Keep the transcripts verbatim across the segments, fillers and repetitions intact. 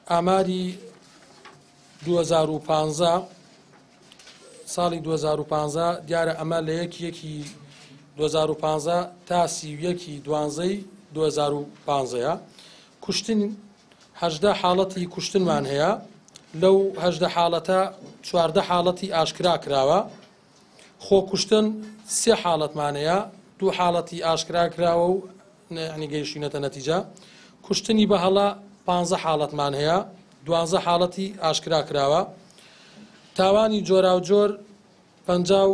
ئاماری دوو هەزار و پازدە ساڵی دوو هەزار و پازدە دیارە ئەمە لە یەکی یەکی دوو هەزار و پازدە تا سی و یەکی دوانزەی دوو هەزار و پازدەیە. کوشتن هەژدە حاڵەتی کوشتنمان هەیە، لەو هەژدە حاڵەتە چواردە حاڵەتی ئاشکرا کراوە. خۆکوشتن سێ حاڵەتمان هەیە، دوو حاڵەتی ئاشکرا کراوە و یعنی گەیشتینەتە نەتیجە. کوشتنی بەهەڵە پانزە حاڵەتمان هەیە، دوانزە حاڵەتی ئاشکرا کراوە. تاوانی جۆراوجۆر پەنجا و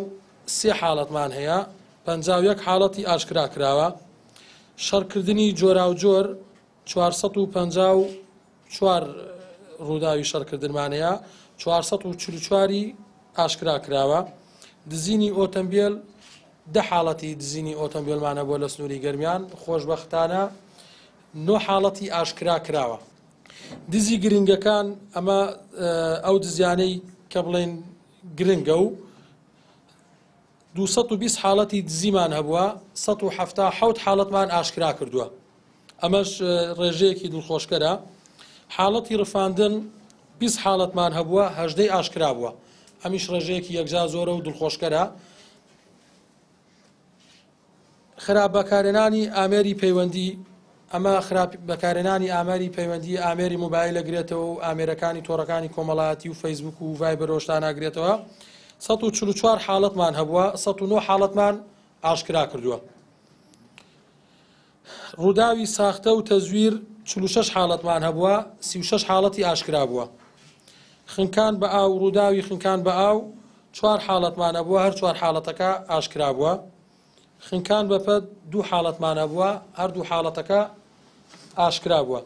سێ حاڵەتمان هەیە، پەنجا و یەک حاڵەتی ئاشکرا کراوە. شەڕکردنی جۆراوجۆر چوارسەد و پەنجا و چوار ڕووداوی شەڕکردنمان هەیە، چوارسەد و چل و چواری ئاشکرا کراوە. دزینی ئۆتۆمبیل دە حاڵەتی دزینی ئۆتۆمبیلمانە بۆ لە سنووری گەرمیان، خۆشبەختانە نۆ حاڵەتی ئاشکرا کراوە. دزی گرنگەکان ئەمە ئەو دزیانەی کە بڵێن گرنگە و دووسەد و بیست حاڵەتی دزیمان هەبووە، سەد و حەفتا حەوت حاڵەتمان ئاشکرا کردووە، ئەمەش ڕێژەیەکی دڵخۆشکەرە. حاڵەتی ڕفاندن بیست حاڵەتمان هەبووە، هەژدەی ئاشکرا بووە، ئەمیش ڕێژەیەکی یەکجار زۆرە و دڵخۆشکەرە. خراپ بەکارهێنانی ئامێری پەیوەندی، ئەمە خراپ بەکارهێنانی ئامێری پەیوەندی ئامێری مۆبایل ئەگرێتەوە و ئامێرەکانی تۆڕەکانی کۆمەڵایەتی و فەیسبوک و ڤایبەر ۆشتان ئەگرێتەوە. سەد و چل و چوار حاڵەتمان هەبووە، سەد و نۆ حاڵەتمان ئاشکرا کردووە. ڕووداوی ساختە و تەزویر چل و شەش حاڵەتمان هەبووە، سی و شەش حاڵەتی ئاشکرا بووە. خنکان بە ئاو، ڕووداوی خنکان بە ئاو چوار حاڵەتمان هەبووە، هەر چوار حاڵەتەکە ئاشکرا بووە. خنکان بە پەت دوو حاڵەتمان هەبووە، هەر دوو حاڵەتەکە ئاشکرا بووە.